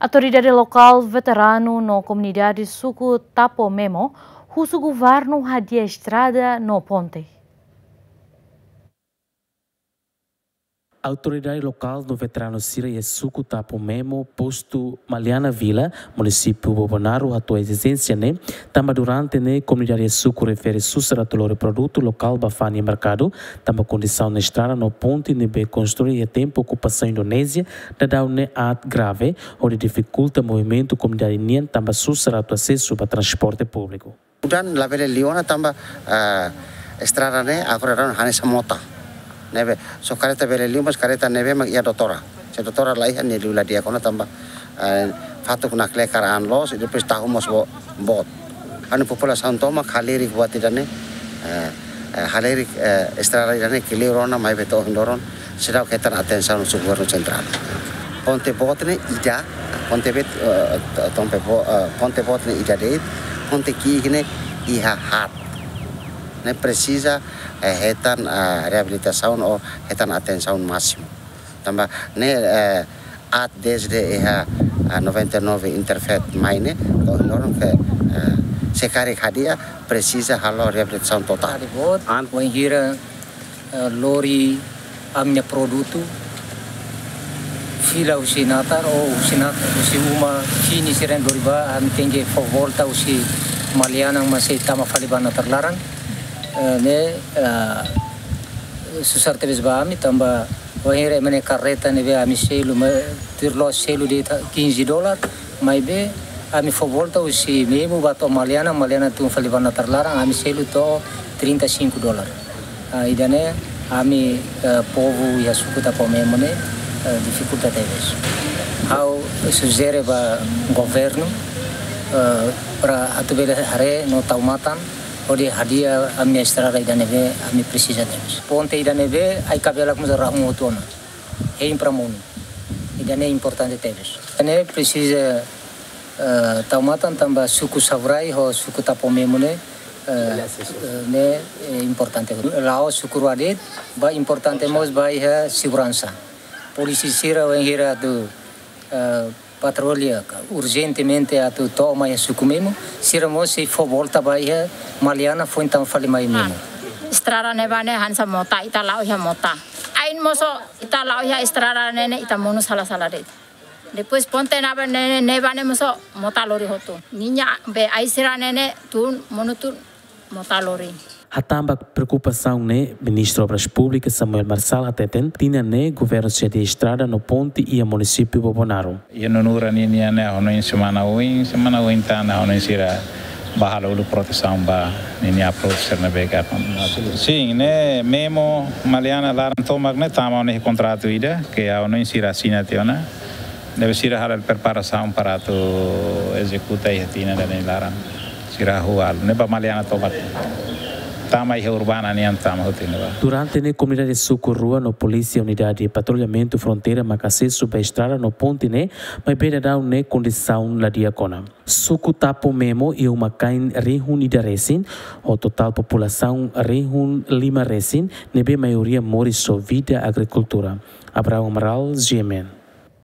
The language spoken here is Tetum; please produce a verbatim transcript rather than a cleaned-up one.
Autoridade lokál, veteranu no komunidade suku Tapo Memo husu governu hadi'a estrada no ponte. Autoridade lokál no veteranu sira iha suku Tapo Memo, postu Maliana Vila, munisípiu Bobonaro, hato'o ezijénsia ne'e, tanba durante ne'e komunidade suku refere susar atu lori produtu lokál ba fa'an iha merkadu, tanba kondisaun estrada no ponte ne'ebé konstrui iha tempu okupasaun Indonézia daudaun ne'e aat grave, hodi difikulta movimentu komunidade nian tanba susar atu asesu ba transporte públiku. Udan labele liu ona tanba, eh, estrada ne'e agora daudaun hanesan mota. Ne'ebé, só karreta bele liu, mas karreta ne'ebé mak iha doutora. Se doutora la iha, nia liu la di'ak ona tanba, eh, fatuk nakle'e karik an loos, i depois tahu mós bo-, boot. Ha'u-nia populasaun tomak halerik buat ida-ne'e, eh, eh, halerik, eh, estrada ida-ne'e kleur ona, maibé to'o ohin loron seidauk hetan atensaun husi governu sentrál. Ponte boot ne'e ida, ponte bet-, eh, to-, tompe bo-, eh, ponte boot ne'e ida de'it, ponte ki'ik ne'e iha haat. Ne'e presiza, eh, hetan, eh, reabilitasaun ou hetan atensaun másimu. Tanba ne'e, eh, aat dezde iha, eh, noventa e nove Interfet mai ne'e, to'o ohin loron ke, eh, se karik hadi'a, presiza halo reabilitasaun totál. Adi boot, an wainhira, eh, lori ami-nia produtu fila husi natar ou husi nat-, husi uma fini sira lori ba, ami tenke fó volta husi Maliana mak sei tama fali ba natar laran. Eh, ne'e, eh, susar tebes ba ami tanba wainhira ema nia karreta ne'ebé ami selu, ma-, tuir loos selu de'it quinze dólar, maibé ami fó volta husi Memo ba to'o Maliana, Maliana tun fali ba natar laran, ami selu to'o trinta e cinco dólar. Ah, ida-ne'e ami, eh, povu iha suku Tapo Memo ne'e, eh, difikulta tebes. Ha'u sujere ba governu, eh, para atu bele haree no tau matan, hodi hadi'a ami-nia estrada ida ne'ebé ami presiza tebes. Ponte ida ne'ebé ai-kabelak mós rahun hotu ona. Hein para monu. Ida-ne'e importante tebes. Ne'e presiza, eh, tau matan tanba suku Savurai ho suku Tapo Memo ne'e, eh, eh, ne'e, eh, importante. La'ós suku rua de'it, ba importante mós ba iha seguransa. Polísia sira wainhira atu, eh, patrulla urjentemente atu to'o mai suku Memo, sira mós sei fó volta ba iha Maliana foin tama fali mai Memo. Estrada ne'ebá ne'e hanesan mota, ita la'o iha mota. Ain mós ita la'o iha estrada ne'e ne'e ita monu sala-sala de'it. Depois ponte ne'ebá ne'e, ne'ebá ne'e mós mota lori hotu. Ninia be ai sira ne'e ne'e tun monu tun mota lori. Hatán ba preokupasaun ne'e, Ministru Obras Públikas Samuel Marçal hateten, tinan ne'e governu sei hadi'a estrada no ponte iha munisípiu Bobonaro. Iha nunuran ninian ne'e ha'u hanoin semana oin, semana oin tan ha'u hanoin sira bá halo uluk protesaun ba ninia approach sira ne'ebé ka. Sin, ne'e Memo Maliana laran tomak ne'e tama ona iha kontratu ida ke ha'u hanoin sira asina tiha ona. Ne'ebé sira halo preparasaun para atu ezekuta iha tinan ida-ne'e laran. Sira halo ne'e ba Maliana tomak. Tama iha urbana nian tama hotu ne'ebá. Durante ne'e komunidade suku rua no polísia unidade patrullamentu fronteira maka asesu ba estrada no ponte ne'e, maibé daudaun ne'e kondisaun la di'ak ona. Suku Tapo Memo iha uma-kain rihun ida resin, ho totál populasaun rihun lima resin, ne'ebé maioria moris ho vida agrikultura. Abraão Amaral, G M N.